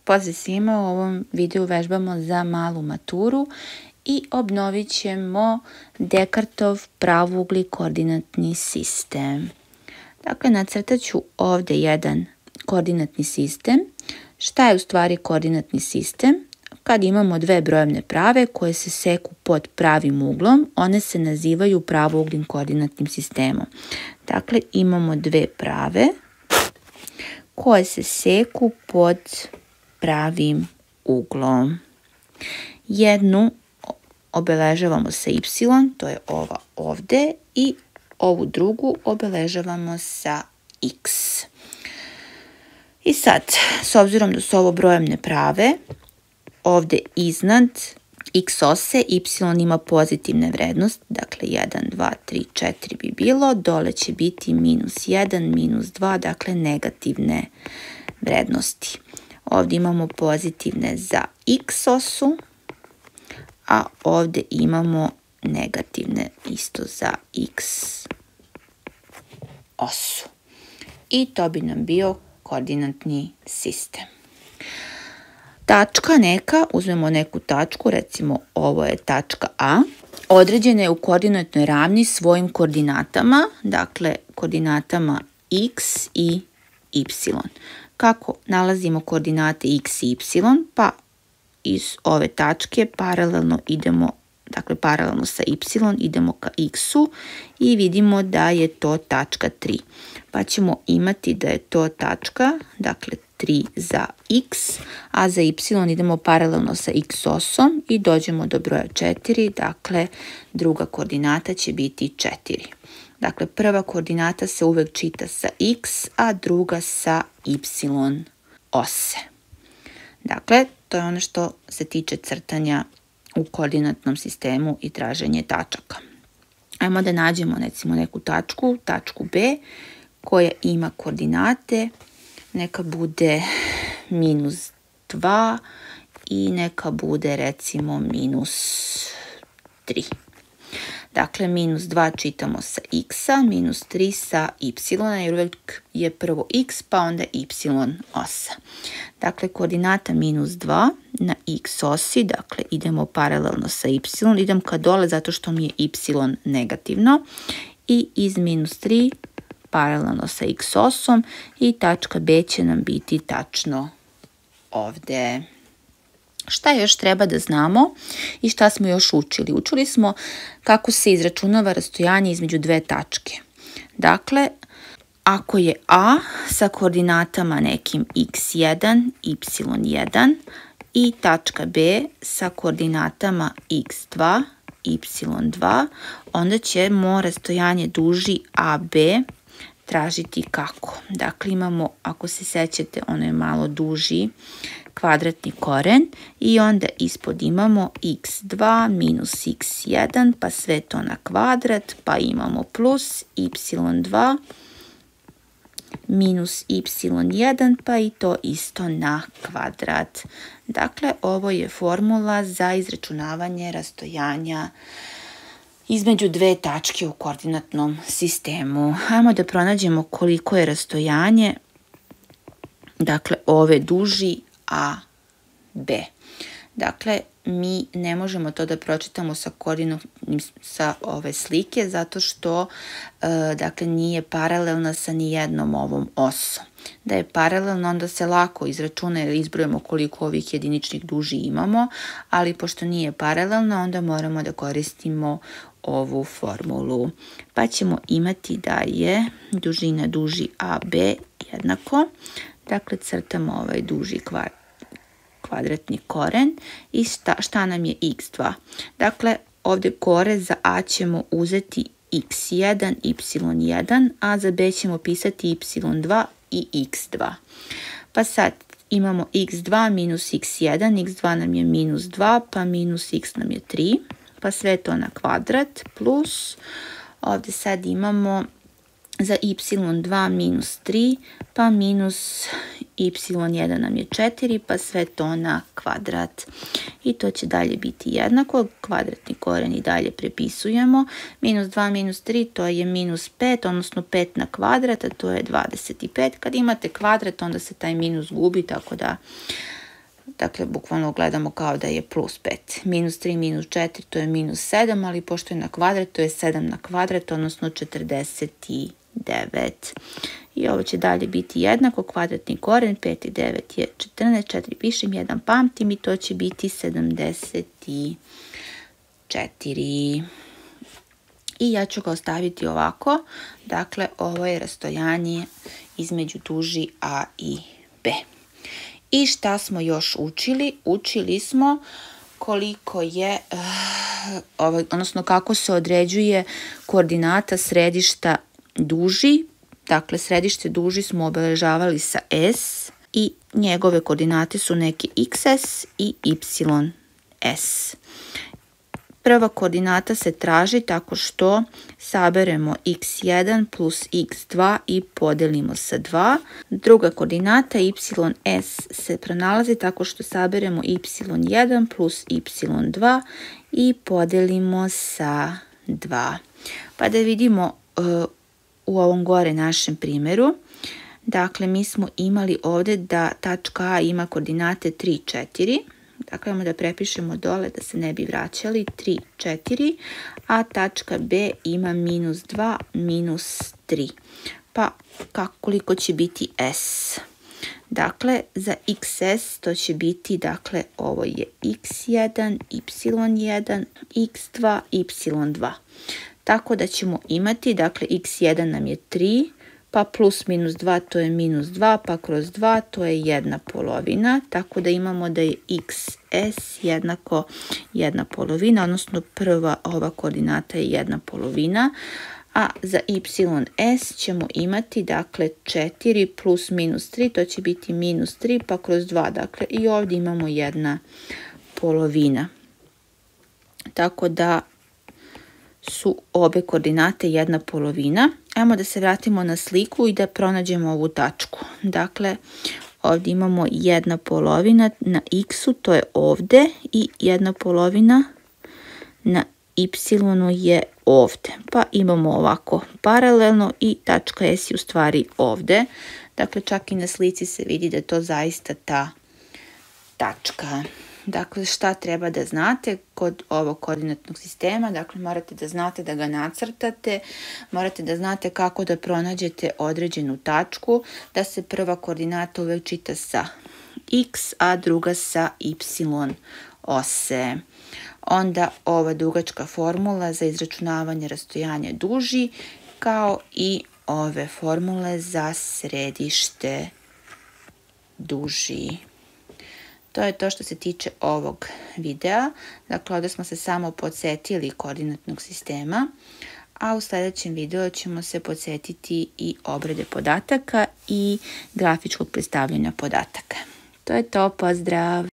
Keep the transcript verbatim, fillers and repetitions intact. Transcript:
Pozdrav svima, u ovom videu vežbamo za malu maturu i obnovit ćemo Descartov pravouglji koordinatni sistem. Dakle, nacrtat ću ovdje jedan koordinatni sistem. Šta je u stvari koordinatni sistem? Kad imamo dve brojevne prave koje se seku pod pravim uglom, one se nazivaju pravougljim koordinatnim sistemom. Dakle, imamo dve prave koje se seku pod pravim uglom. Jednu obeležavamo sa y, to je ova ovde, i ovu drugu obeležavamo sa x. I sad, s obzirom da su ovo brojevne prave, ovde iznad x ose y ima pozitivne vrednosti, dakle jedan, dva, tri, četiri bi bilo, dole će biti minus jedan, minus dva, dakle negativne vrednosti. Ovdje imamo pozitivne za x osu, a ovdje imamo negativne isto za x osu. I to bi nam bio koordinatni sistem. Tačka neka, uzmemo neku tačku, recimo ovo je tačka A, određena je u koordinatnoj ravni svojim koordinatama, dakle koordinatama x i y. Kako nalazimo koordinate x i y? Pa iz ove tačke paralelno idemo, dakle paralelno sa y idemo ka x-u i vidimo da je to tačka tri. Pa ćemo imati da je to tačka, dakle tri za x, a za y idemo paralelno sa x osom i dođemo do broja četiri, dakle druga koordinata će biti četiri. Dakle, prva koordinata se uvek čita sa x, a druga sa y ose. Dakle, to je ono što se tiče crtanja u koordinatnom sistemu i traženje tačaka. Ajmo da nađemo recimo neku tačku, tačku B, koja ima koordinate, neka bude minus dva i neka bude recimo minus tri. Dakle, minus dva čitamo sa x-a, minus tri sa y, jer uvijek je prvo x pa onda y osa. Dakle, koordinata minus dva na x osi, dakle idemo paralelno sa y, idem ka dole zato što mi je y negativno, i iz minus tri paralelno sa x osom i tačka B će nam biti tačno ovde. Šta još treba da znamo i šta smo još učili? Učili smo kako se izračunava rastojanje između dve tačke. Dakle, ako je A sa koordinatama nekim x jedan, y jedan i tačka B sa koordinatama x dva, y dva, onda ćemo rastojanje duži A B tražiti kako? Dakle, imamo, ako se sećate, ono je malo duži kvadratni koren i onda ispod imamo x dva minus x jedan, pa sve to na kvadrat, pa imamo plus y dva minus y jedan, pa i to isto na kvadrat. Dakle, ovo je formula za izračunavanje rastojanja između dve tačke u koordinatnom sistemu. Hajmo da pronađemo koliko je rastojanje, dakle, ove duži A B. Dakle, mi ne možemo to da pročitamo sa koordinatnim, sa ove slike, zato što, e, dakle, nije paralelna sa nijednom ovom osom. Da je paralelno, onda se lako izračuna jer izbrojimo koliko ovih jediničnih duži imamo, ali pošto nije paralelno, onda moramo da koristimo ovu formulu. Pa ćemo imati da je dužina duži A B jednako, dakle crtamo ovaj duži kvadratni koren i šta, šta nam je x dva. Dakle, ovdje kore za A ćemo uzeti x jedan, y jedan, a za B ćemo pisati y dva i x dva. Pa sad imamo x dva minus x jedan, x dva nam je minus dva, pa minus x nam je tri, pa sve to na kvadrat, plus ovdje sad imamo za y dva minus tri, pa minus y jedan nam je četiri, pa sve to na kvadrat. I to će dalje biti jednako, kvadratni koren i dalje prepisujemo. Minus dva minus tri, to je minus pet, odnosno pet na kvadrat, a to je dvadeset pet. Kad imate kvadrat, onda se taj minus gubi, tako da dakle bukvalno gledamo kao da je plus pet. Minus tri minus četiri to je minus sedam, ali pošto je na kvadrat to je sedam na kvadrat, odnosno četrdeset devet. I ovo će dalje biti jednako, kvadratni koren, pet i devet je četrnaest, četiri pišem, jedan pamtim i to će biti sedamdeset četiri. I ja ću ga ostaviti ovako, dakle ovo je rastojanje između duži A i B. I šta smo još učili? Učili smo koliko je, uh, odnosno kako se određuje koordinata središta duži. Dakle, središte duži smo obeležavali sa S i njegove koordinate su neki iks es i ipsilon es. Prva koordinata se traži tako što saberemo iks jedan plus iks dva i podelimo sa dva. Druga koordinata ipsilon es se pronalazi tako što saberemo ipsilon jedan plus ipsilon dva i podelimo sa dva. Pa da vidimo uh, u ovom gore našem primjeru. Dakle, mi smo imali ovdje da tačka A ima koordinate tri, četiri. Dakle, imamo da prepišemo dole da se ne bi vraćali, tri, četiri, a tačka B ima minus dva, minus tri. Pa kako, koliko će biti S? Dakle, za iks es to će biti, dakle, ovo je iks jedan, ipsilon jedan, iks dva, ipsilon dva. Tako da ćemo imati, dakle, iks jedan nam je tri, pa plus minus dva to je minus dva, pa kroz dva to je jedna polovina, tako da imamo da je iks es jednako jedna polovina, odnosno prva ova koordinata je jedna polovina, a za ipsilon es ćemo imati, dakle, četiri plus minus tri, to će biti minus tri, pa kroz dva, dakle, i ovdje imamo jedna polovina. Tako da su obe koordinate jedna polovina. Ajmo da se vratimo na sliku i da pronađemo ovu tačku. Dakle, ovdje imamo jedna polovina na x-u, to je ovdje, i jedna polovina na y-u je ovdje. Pa imamo ovako paralelno i tačka S je u stvari ovdje. Dakle, čak i na slici se vidi da je to zaista ta tačka. Dakle, šta treba da znate kod ovog koordinatnog sistema? Dakle, morate da znate da ga nacrtate, morate da znate kako da pronađete određenu tačku, da se prva koordinata uvek čita sa x, a druga sa y ose. Onda ova dugačka formula za izračunavanje rastojanja duži, kao i ove formule za središte duži. To je to što se tiče ovog videa. Dakle, ovdje smo se samo podsjetili koordinatnog sistema, a u sljedećem videu ćemo se podsjetiti i obrade podataka i grafičkog predstavljanja podataka. To je to, pozdrav!